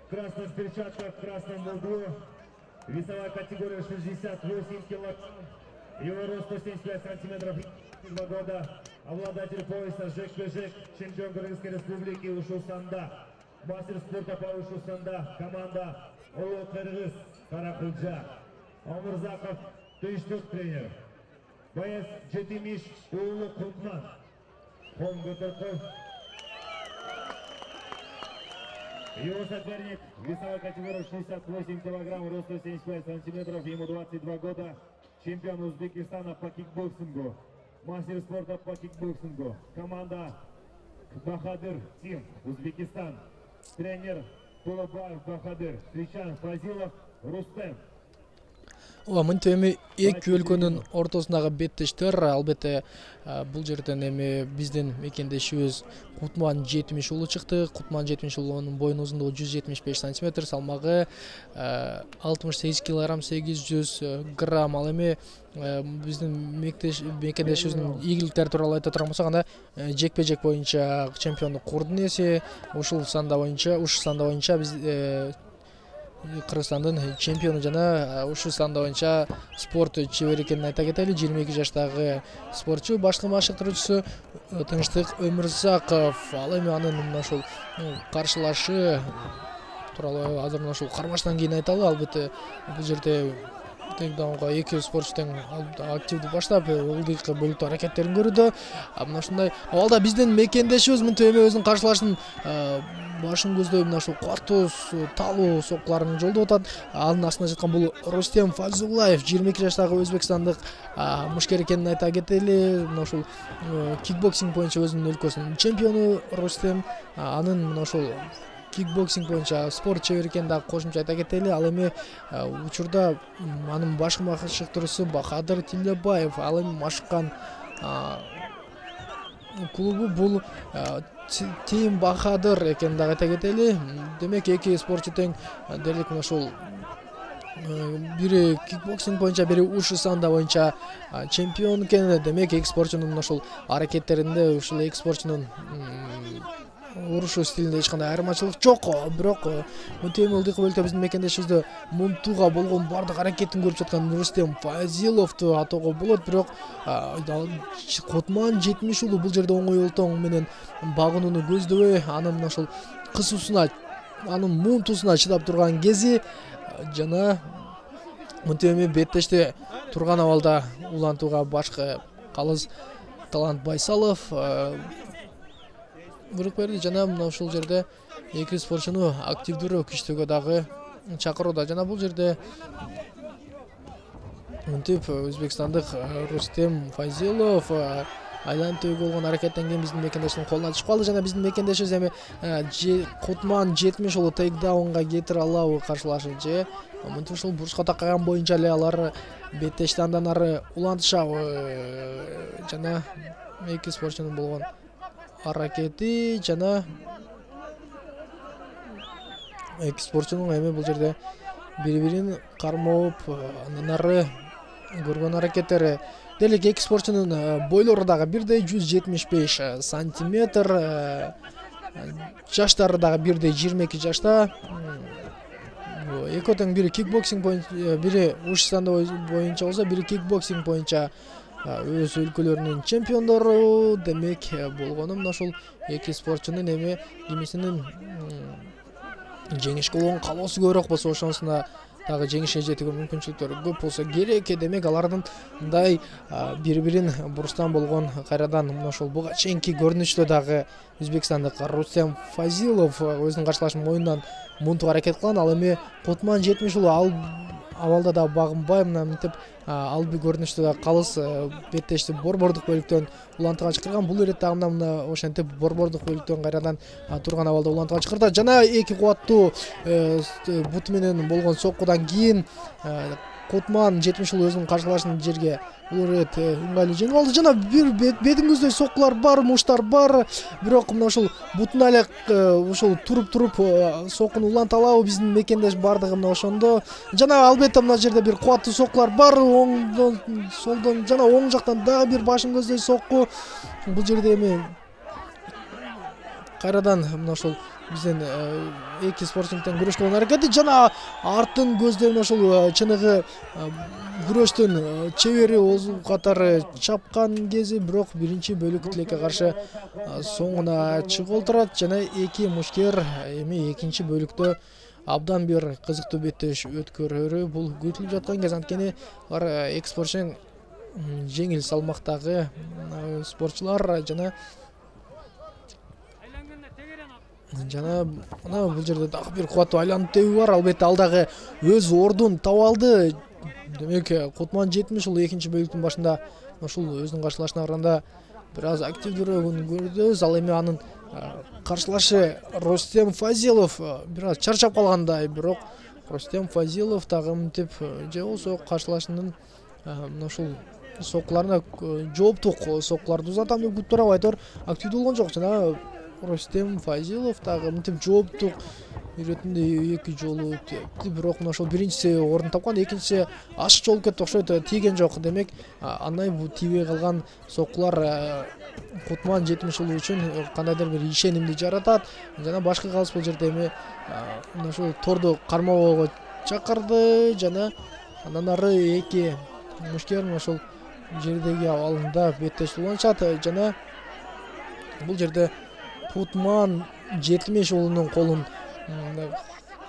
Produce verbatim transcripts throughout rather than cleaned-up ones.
в красных перчатках, в красном углу. Весовая категория шестьдесят восемь килограмм. Его рост сто семьдесят пять сантиметров. Два года. Обладатель пояса жек-жек, чемпион Кыргызской республики ушу санда. Мастер спорта по ушу санда. Команда Улуу Кыргыз Каракулжа. Омурзаков Тыштык тренер. Боец Жетимиш Улуу Кутман. Ком Гутырков. Его соперник весовой категории шестьдесят восемь килограмм, рост сто семьдесят пять сантиметров, ему двадцать два года. Чемпион Узбекистана по кикбоксингу. Мастер спорта по кикбоксингу. Команда Бахадыр Тим, Узбекистан. Тренер Тулабаев Бахадыр. Встречаем Фазилов Рустем. Ооба, мынтип эми эки өлкөнүн ортосундагы беттештер. Албетте бул жерден эми биздин мекендешибиз Кутман жетимиш уулу чыкты. Кутман жетимиш уулунун боюнун узундугу жүз жетимиш беш сантиметр, салмагы алтымыш сегиз килограмм сегиз жүз грамм. Ал эми биздин мекендешибиздин ийгиликтери тууралуу айта турган болсок, анда жекпе-жек боюнча чемпиондук курдун ээси, ушул санда боюнча, ушу санда боюнча биз Кыргызстандын чемпиону жана ушу санда боюнча спорт чебери экенин айта кетели. жыйырма эки жаштагы спортчу, башкы машыктыруучусу Тынчтык Өмүрзаков. Ал эми анын мына ушул каршылашы тууралуу азыр мына ушул кармаштан кийин айталы. Албетте бул жерде тең эки спортчу тең активдүү баштап, ылдыйкы бөлүктүү аракеттерин көрүүдө. Мына ушундай абалда биздин мекендешибиз мынтип эми өзүнүн каршылашын башын көздөй мына ушул катуу талуу соккуларын жолдоп атат. Анын астында жаткан бул Рустем Фазуллаев, жыйырма эки жаштагы өзбекстандык мушкер экенин айта кетели. Мына ушул кикбоксинг боюнча өзүнүн өлкөсүнүн чемпиону Рустем. Анын мына ушул кикбоксинг боюнча спорт чебери экенин дагы кошумча айта кетели. Ал эми учурда анын башкы машыктыруусу Бахадыр Тилебаев. Ал эми машыккан клубу бул Тим Бахадыр экенин дагы айта кетели. Демек эки спортчу тең дерлик мына ушул бири кикбоксинг боюнча, бири ушу санда боюнча чемпион экен. Демек эки спортчунун мына ушул аракеттеринде, ушул эки спортчунун урушу стилинде эч кандай айырмачылык жок. Бирок мынтип ылдыйкы бөлүктө биздин мекендешибизде мунтуга болгон бардык аракетин көрүп жаткан Рустем Фазиловду атоого болот. Бирок Кутман жетимиш уулу бул жерде оңой олтоң менен багынууну көздөбөй, анын мына ушул кысуусуна, анын мунтусуна чыдап турган кези жана мынтип эми беттеште турган абалда улантууга башкы калыс Талант Байсалов буйрук берди жана мына ушул жерде эки спортчуну активдүүрөөк иштөөгө дагы чакырууда. Жана бул жерде мынтип өзбекстандык Рустем Фазилов айланып төбөгө болгон аракеттен кийин биздин мекендештин колуна түшүп калды жана биздин мекендешибиз эми Кутман жетимиш уулу тейкдаунга кетире алабы каршылашы же мынтип ушул бурчка такаган боюнча эле алар беттешти андан ары улантышабы. Жана эки спортчунун болгон аракети жана эки спортчунун эми бул жерде бири-бирин кармоп андан ары көргөн аракеттери. Делик эки спортчунун бойлору дагы бирдей, жүз жетимиш беш сантиметр, жаштары дагы бирдей, жыйырма эки жашта. Экөө тең бири кикбоксинг боюнча, бири уш санда боюнча болсо, бири кикбоксинг боюнча өз өлкөлөрүнүн чемпиондору. Демек болгону мына ушул эки спортчунун эми кимисинин жеңишке болгон каалоосу көбүрөөк болсо, ошонусунда дагы жеңишке жетүүгө мүмкүнчүлүктөрү көп болсо керек. Демек алардын мындай бири-бирин бурустан болгон кайрадан мына ушул буга чейинки көрүнүштө дагы өзбекстандык Рустем Фазилов өзүнүн каршылашын мойнунан мунтук аракет кылган. Ал эми Кутман жетимиш уулу ал абалда да багынбай мына мынтип алби көрүнүштө да калыс беттешти борбордук бөлүктөн улантууга чакырган. Бул ирет дагы мына ошентип борбордук бөлүктөн кайрадан турган абалда улантууга чакырды. Жана эки кубаттуу буту менен болгон соккудан кийин Кутман жетимиш уулу өзүнүн каршылашын жерге бул ирет ыңгайлуу жеңип алды. Жана бир бетин көздөй соккулар бар, муштар бар. Бирок мына ушул бутуна эле ушул туруп-туруп соккуну уланта алабы биздин мекендеш бардыгы мына ошондо. Жана албетте мына жерде бир кубаттуу соккулар бар. Оңдон, солдон жана оң жактан дагы бир башын көздөй сокку. Бул жерде эми кайрадан мына ушул бизден эки спортчунун тең күрөш кылган аракети жана артын көздөй ошол чыныгы күрөштүн чебери озу катары чапкан кези, бирок биринчи бөлүк тилекке каршы соңуна чыгып отурат жана эки мушкер эми экинчи бөлүктө абдан бир кызыктуу беттеш өткөрөрү бул күтүлүп жаткан кез. Анткени алар эки спортчу жеңил салмактагы спортчулар жана жана мына бул жерде дагы бир кубаттуу айланып тебүү бар. Албетте ал дагы өз ордун таап алды. Демек Кутман жетимиш уулу экинчи бөлүктүн башында ушул өзүнүн каршылашына караганда бир аз активдүүрөөк көрдүбүз. Ал эми анын каршылашы Рустем Фазилов бир аз чарчап калгандай, бирок Рустем Фазилов дагы мынтип же болсо каршылашынын мына ушул соккуларына жооптук соккуларды узатам деп күтүп туруп айтор активдүү болгон жок. Жана Рустем Фазилов дагы мынтип жооптук иретинде эки жолу тепти, бирок мына ошол биринчиси орун тапкан, экинчиси ашык жолуп кетти окшойт, тийген жок. Демек андан бул тийбей калган соккулар Кутман жетимиш уулу үчүн кандайдыр бир ишенимди жаратат. Жана башкы калыс бул жерде эми мына ушул торду кармоого чакырды жана андан ары эки мушкер мына ошол жердеги абалында беттеш уланышат жана бул жерде Кутман жетимиш уулунун колун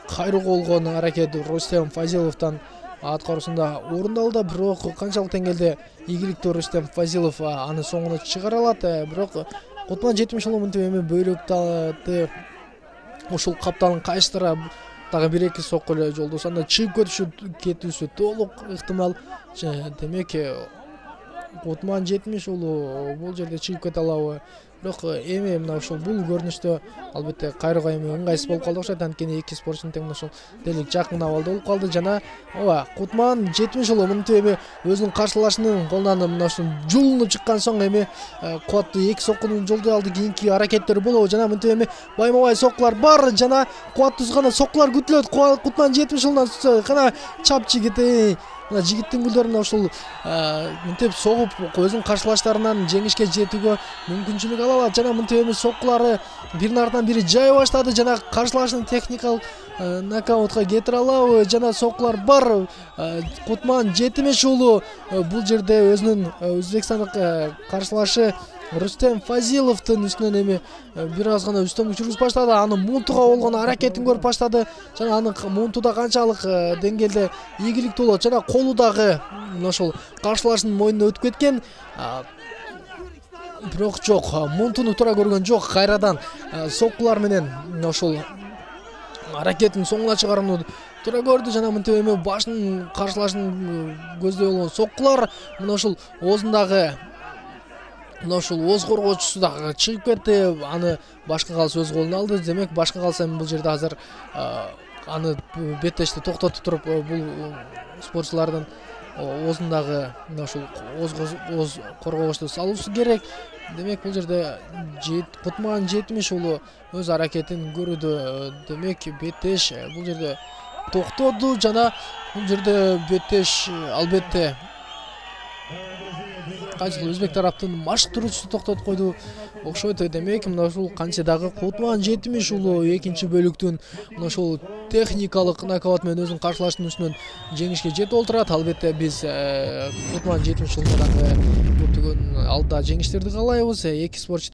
кайрууга болгон аракет Рустем Фазиловдон аткаруусунда орундалды, бирок канчалык деңгээлде ийгиликтүү Рустем Фазилов аны соңуна чыгара алат. Бирок Кутман жетимиш уулу мынтип эми бөйрөктө ушул капталын кайыштыра дагы бир эки сокку эле жолдосо анда чыгып кетиши кетүүсү толук ыктымал. Демек Кутман жетимиш уулу бул жерде чыгып кете алабы? Бирок эми мына ушул бул көрүнүштө албетте кайрууга эми ыңгайсыз болуп калды окшойт. Анткени эки спортчунун тең ушул дерлик жакын абалда болуп калды жана ооба Кутман жетимиш уулу мынтип эми өзүнүн каршылашынын колунан мына ушул жулунуп чыккан соң эми кубаттуу эки соккуну жолдой алды. Кийинки аракеттери болобу жана мынтип эми байма-бай соккулар бар жана кубаттуу гана соккулар күтүлөт. Кутман жетимиш уулунан кана чап жигит мына жигиттин гүлдөрүнө ушул мынтип согуп өзүнүн каршылаштарынан жеңишке жетүүгө мүмкүнчүлүк ала алат жана мынтип эми соккулары биринин артынан бири жай баштады жана каршылашын техникалык нокаутка кетире алабы? Жана соккулар бар. Кутман жетимиш уулу бул жерде өзүнүн өзбекстандык каршылашы Рустем Фазиловдун үстүнөн эми бир аз гана үстөмдүк жүргүзүп баштады. Аны мунтуга болгон аракетин көрүп баштады жана анын мунтуда канчалык деңгээлде ийгиликтүү болот жана колу дагы мына ошол каршылашынын мойнуна өтүп кеткен. Бирок жок, мунтуну туура көргөн жок. Кайрадан соккулар менен мына ошол аракетин соңуна чыгарууну туура көрдү жана мынтип эми башын каршылашын көздөй болгон соккулар мына ушул оозундагы мына ушул ооз коргоочусу дагы чыгып кетти. Аны башкы калыс өз колуна алды. Демек башкы калыс эми бул жерде азыр аны беттешти токтотуп туруп бул спортчулардын оозундагы мына ушул ооз коргогучту салуусу керек. Демек бул жерде Кутман жетимиш уулу өз аракетин көрүүдө. Демек беттеш бул жерде токтоду жана бул жерде беттеш албетте кайсыл өзбек тараптын машыктыруучусу токтотуп койду окшойт. Демек мына ушул кантсе дагы Кутман жетимиш уулу экинчи бөлүктүн мына ушул техникалык нокаут менен өзүнүн каршылашынын үстүнөн жеңишке жетип отурат. Албетте биз Кутман жетимиш уулуна дагы көптөгөн алда жеңиштерди каалайбыз. Эки спортчу